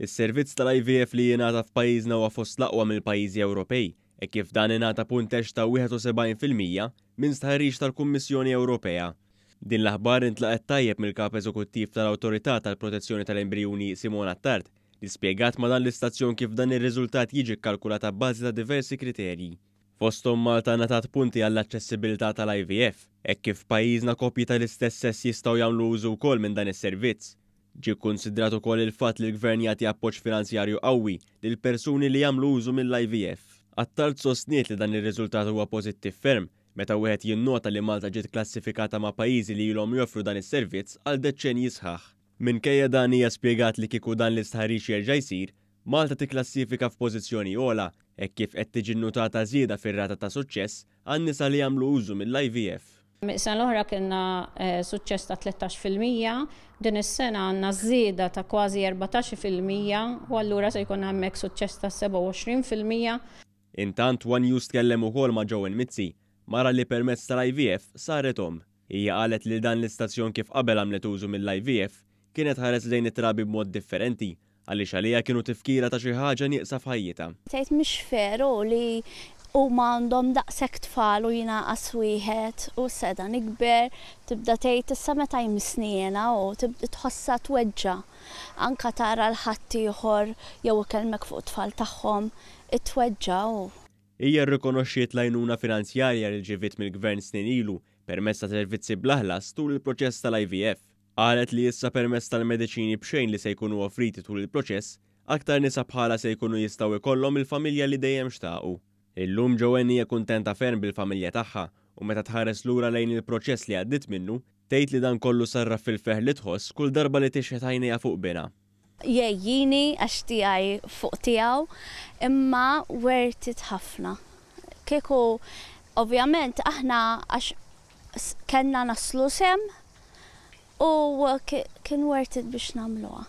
Is-servizz tal-IVF li jingħata f'pajjiżna huwa fost l-aqwa mill-pajjiżi Ewropej, hekk kif dan ingħata punteġġ ta' 71% minn stħarriġ tal-Kummissjoni Ewropea. Din l-aħbar intlaqgħet tajjeb mill-Kap Eżekuttiv tal-Awtorità tal-Protezzjoni tal-Embrijuni Simona Attard, li spjegat ma' dan l-istazzjon kif dan ir-riżultat jiġi kkalkulat abbażi ta' diversi kriterji. Fosthom Malta ngħatat punti għall-aċċessibilità tal-IVF, hekk kif f'pajjiżna koppji tal-istess sess jistgħu jagħmlu użu wkoll minn dan is-servizz. Ġie kkunsidrat ukoll il-fatt li l-Gvern jagħti appoġġ finanzjarju qawwi lil persuni li jagħmlu użu mill-IVF. Attard sostniet li dan ir-riżultat huwa pożittiv ferm meta wieħed jinnota li Malta ġiet klassifikata ma' pajjiżi li ilhom joffru dan is-servizz għal deċċenji sħaħ. Minkejja dan hija spjegat li kieku dan l-istħarriġ jerġa' jsir, Malta tikklassifika f'pożizzjoni ogħla hekk kif qed tiġi nnutata żieda fir-rata ta' suċċess għan-nisa li jagħmlu użu mill-IVF. Is-sena l-oħra kellna suċċess ta' 13%, din is-sena għandna żieda ta' kważi 14% u allura se jkollna hemmhekk suċċess ta' 27%. Intant, one News tkellem ukoll ma' Joanne Mizzi, mara li permezz tal-IVF saret omm. Hija qalet lil dan l-istazzjon kif qabel għamlet użu mill-IVF, kienet tħares lejn it-trabi b'mod differenti għaliex għaliha kienu tifkira ta' xi ħaġa nieqsa f'ħajjitha. Tgħid mhix veru li huma għandhom daqshekk tfal u jiena qas wieħed u issa qiegħda nikber, tibda tgħid issa meta jmissni jiena u tħossha tweġġa'. Anke tara 'l ħaddieħor jew ikellmek fuq it-tfal tagħhom, tweġġa' u. Hija rrikonoxxiet l-għajnuna finanzjarja li rċiviet mill-Gvern snin ilu permezz ta' servizzi bla ħlas tul il-proċess tal-IVF. Qalet li issa permezz tal-mediċini b'xejn li se jkunu offriti tul il-proċess, aktar nisa bħalha se jkunu jistgħu jkollhom il-familja li dejjem xtaqu. Illum Joanne hija kuntenta ferm bil-familja tagħha u meta tħares lura lejn il-proċess li għaddiet minnu, tgħid li dan kollu sarraf fil-ferħ li tħoss kull darba li tixħet għajnejha fuq binha. Jgħejjini għax tiegħi fuq tiegħu, imma worth it ħafna. Kieku ovvjament aħna għax kellna naslu s'hemm u kien worth it biex nagħmluha.